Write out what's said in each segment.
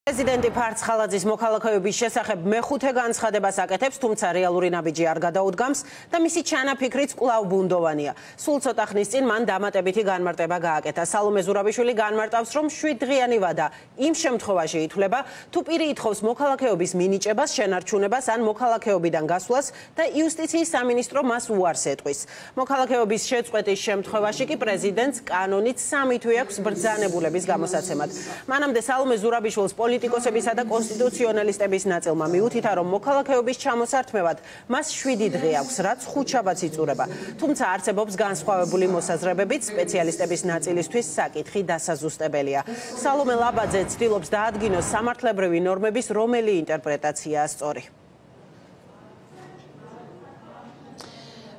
პრეზიდენტი ფარცხალაძის მოქალაქეობის შესახებ მეხუთე განცხადებას აკეთებს, თუმცა რეალური ნაბიჯი არ გადაუდგამს და მისი ჩანაფიქრიც კვლავ ბუნდოვანია. სულ ცოტა ხნის წინ მან დამატებითი განმარტება გააკეთა. სალომე ზურაბიშვილი განმარტავს, რომ 7 დღიანი ვადა იმ შემთხვევაში ითვლება, თუ პირი ითხოვს მოქალაქეობის მინიჭებას, შენარჩუნებას ან მოქალაქეობიდან გასვლას და იუსტიციის სამინისტრო მას უარს ეტყვის. მოქალაქეობის შეწყვეტის შემთხვევაში კი პრეზიდენტს კანონით 3 თვე აქვს ბრძანებულების გამოსაცემად. მანამდე სალომე ზურაბიშვილს პოლიტიკოსებისა და კონსტიტუციონალისტების ნაწილმა მიუთითა, რომ მოქალაქეობის ჩამოსართმევად მას 7 დღე აქვს, რაც ხუთშაბათს იწურება. თუმცა არსებობს განსხვავებული მოსაზრებებით, სპეციალისტების ნაწილისთვის საკითხი დასაზუსტებელია. სალომე ლაბაძე ცდილობს დაადგინოს სამართლებრივი ნორმების რომელი ინტერპრეტაციაა სწორი.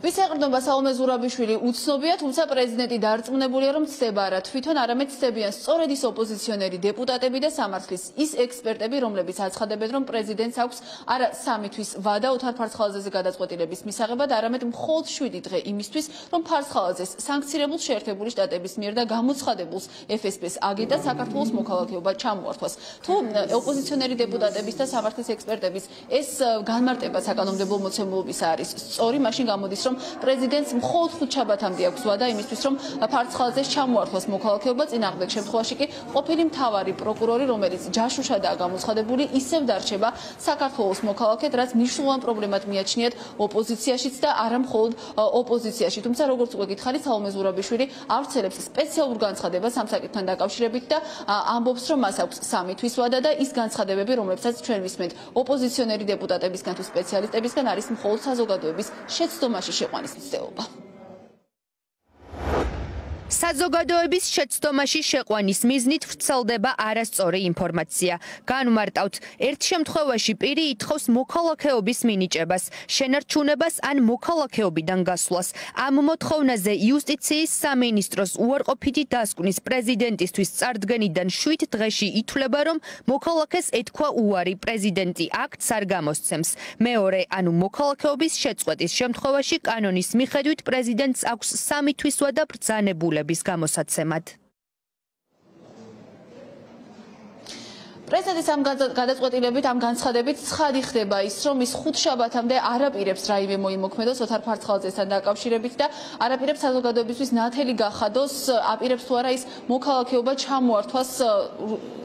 ვისეყრდნობა სალომე ზურაბიშვილი უცნობია, თუმცა პრეზიდენტი დარწმუნებულია, რომ ცდება არა თვითონ, არამედ ცდებიან სწორედ ის ოპოზიციონერი დეპუტატები და სამართლის ის ექსპერტები, რომლებიც აცხადებენ, რომ პრეზიდენტს აქვს არა 3 თვის ვადა ოთარ ფარცხალაძეზე გადაწყვეტილების მისაღებად, არამედ მხოლოდ 7 დღე იმისთვის, რომ ფარცხალაძეს სანქცირებულ შეერთებული შტატების მიერ და გამოცხადებულს FSB-ს აგენტად საქართველოს მოქალაქეობა ჩამოართვას. თუ ოპოზიციონერი დეპუტატების და სამართლის ექსპერტების ეს განმარტება საკანონმდებლო მოცემულობისა არის სწორი, მაშინ გამოდის, რომ პრეზიდენტს მხოლოდ ხუთშაბათამდე აქვს ვადა იმისთვის, რომ ფარცხალაძეს ჩამოართვას მოქალაქეობა. წინააღმდეგ შემთხვევაში კი ყოფილი მთავარი პროკურორი, რომელიც ჯაშუშადაა გამოცხადებული, ისევ დარჩება საქართველოს მოქალაქედ, რაც მნიშვნელოვან პრობლემად მიაჩნიათ ოპოზიციაშიც და არა მხოლოდ ოპოზიციაში. თუმცა როგორც უკვე გითხარით, სალომე ზურაბიშვილი ავრცელებს სპეციალურ განცხადებას ამ საკითხთან დაკავშირებით და ამბობს, რომ მას აქვს 3 თვის ვადა და ის განცხადებები, რომლებსაც ჩვენ ვისმენთ ოპოზიციონერი დეპუტატებისგან თუ სპეციალისტებისგან, არის მხოლოდ საზოგადოების შეცდომაში შეყვანის მცდელობა. საზოგადოების შეცდომაში შეყვანის მიზნით ვრცელდება არასწორი ინფორმაცია. განვმარტავთ, ერთ შემთხვევაში პირი ითხოვს მოქალაქეობის მინიჭებას, შენარჩუნებას ან მოქალაქეობიდან გასვლას. ამ მოთხოვნაზე იუსტიციის სამინისტროს უარყოფითი დასკვნის პრეზიდენტისთვის წარდგენიდან 7 დღეში ითვლება, რომ მოქალაქეს ეთქვა უარი, პრეზიდენტი აქტს არ გამოსცემს. მეორე, ანუ მოქალაქეობის შეწყვეტის შემთხვევაში კანონის მიხედვით პრეზიდენტს აქვს 3 თვის ვადა ბრძანებულების გამოსაცემად. პრეზიდენტის ამ გადაწყვეტილებით, ამ განცხადებით ცხადი ხდება ის, რომ ის ხუთშაბათამდე არაპირებს რაიმე მოიმოქმედოს ოთარ ფარცხალაძესთან დაკავშირებით და არაპირებს საზოგადოებისთვის ნათელი გახადოს, აპირებს თუ არა ის მოქალაქეობა ჩამოართვას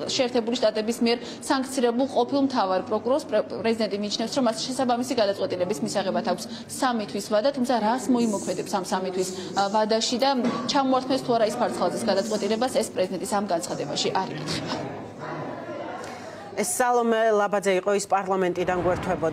შეერთებული შტატების მიერ სანქცირებულ ყოფილ მთავარ პროკურორს. პრეზიდენტი მიიჩნევს, რომ მას შესაბამისი გადაწყვეტილების მისაღებად აქვს 3 თვის ვადა, თუმცა რას მოიმოქმედებს ამ 3 თვის ვადაში და ჩამოართმევს თუ არა ის ფარცხალაძეს გადაწყვეტილებას, ეს პრეზიდენტის ამ განცხადებაში არ იკითხება. სალომე ლაბაძე იყო ის პარლამენტიდან გვერდთვებოდა.